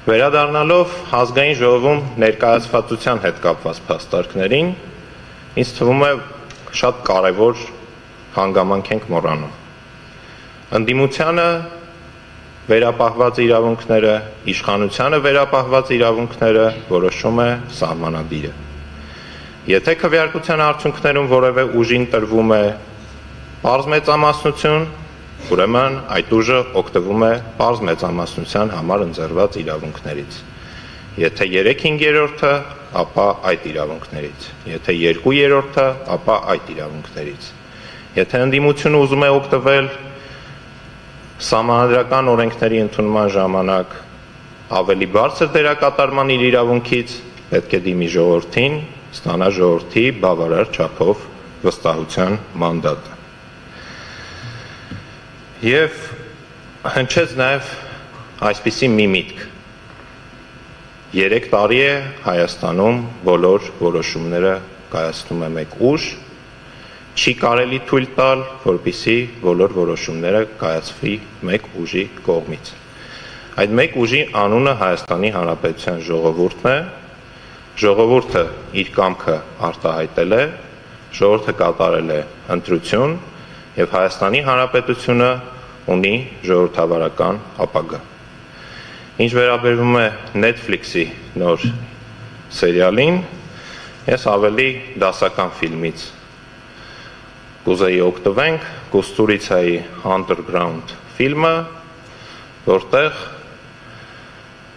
Վերադառնալով ազգային ժողովում ներկայացվածության հետ կապված փաստարկներին, ինձ թվում է շատ կարևոր հանգամանք ենք մոռանում։ Ընդդիմությանը վերապահված իրավունքները, իշխանությանը վերապահված իրավունքները որոշում է սահմանադիրը։ Եթե քվեարկության արդյունքներում որևէ ուժին տրվում է պարզ մեծամասնություն, ուրեմն այդ ուժը օգտվում է պարզ մեծամասնության համար ընձեռված իրավունքներից։ Եթե 3/5-ը, ապա այդ իրավունքներից, եթե 2/3-ը, ապա այդ իրավունքներից։ Եթե ընդդիմությունը ուզում է օգտվել սահմանադրական օրենքների ընդունման ժամանակ ավելի բարձր դերակատարման իր իրավունքից, պետք է դիմի ժողովրդին, ստանա ժողովրդի բավարար չափով վստահության մանդատը։ Եվ հնչեց նաև այսպիսի մի միտք. 3 տարի է Հայաստանում բոլոր որոշումները կայացնում է մեկ ուժ, չի կարելի թույլ տալ, որպեսզի բոլոր որոշումները կայացվի մեկ ուժի կողմից։ Այդ մեկ ուժի անունը Հայաստանի Հանրապետության ժողովուրդն է, ժողովուրդը իր կամքը արտահայտել է, ժողովուրդը կատարել է ընտրություն եւ Հայաստանի Հանրապետությունը ունի ժողովրդավարական ապագա։ Ինչ վերաբերվում է Netflix-ի նոր սերիալին, ես ավելի դասական ֆիլմից կուզեի օգտվենք Կուստուրիցայի Underground ֆիլմը, որտեղ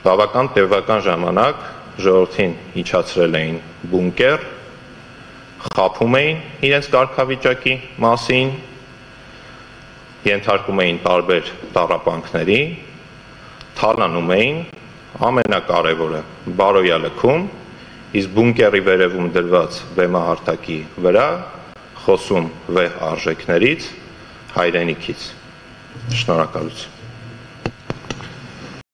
բավական տևական ժամանակ ժողովրդին իջացրել էին բունկեր, խաբում էին իրենց կարգավիճակի մասին, ենթարկում էին տարբեր տառապանքների, թալանում էին, ամենակարևորը բարոյալքում, իսկ բունկերի վերևում դրված բեմահարթակի վրա խոսում վեհ արժեքներից, հայրենիքից։ Շնորհակալություն։